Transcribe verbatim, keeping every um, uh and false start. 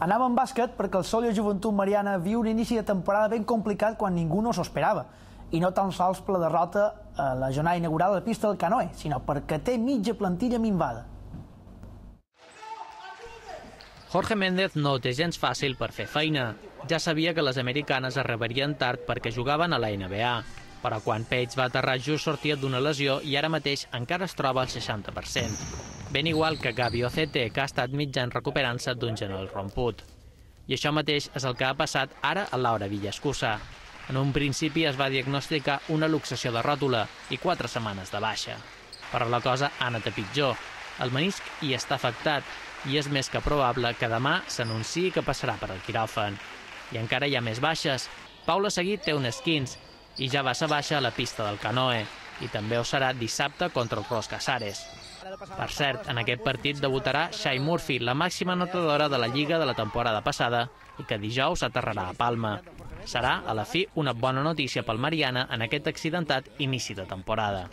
Anava en bàsquet perquè el Sóller Joventut Mariana viu un inici de temporada ben complicat quan ningú no s'ho esperava. I no tan sols per la derrota a la jornada inaugural a la pista del Canoe, sinó perquè té mitja plantilla minvada. Jorge Méndez no ho té gens fàcil per fer feina. Ja sabia que les americanes arribarien tard perquè jugaven a la N B A. Però quan Page va aterrar just sortia d'una lesió i ara mateix encara es troba al seixanta per cent. Ben igual que Gabi Ocete, que ha estat mig any recuperant-se d'un genoll romput. I això mateix és el que ha passat ara a Laura Villaescusa. En un principi es va diagnosticar una luxació de ròtula i quatre setmanes de baixa. Però la cosa ha anat a pitjor. El menisc hi està afectat i és més que probable que demà s'anunciï que passarà per al quiròfan. I encara hi ha més baixes. Paula Seguí té un esquins i ja va ser baixa a la pista del Canoe, i també ho serà dissabte contra el Ros Casares. Per cert, en aquest partit debutarà Shai Murphy, la màxima anotadora de la Lliga de la temporada passada, i que dijous aterrarà a Palma. Serà, a la fi, una bona notícia pel Mariana en aquest accidentat inici de temporada.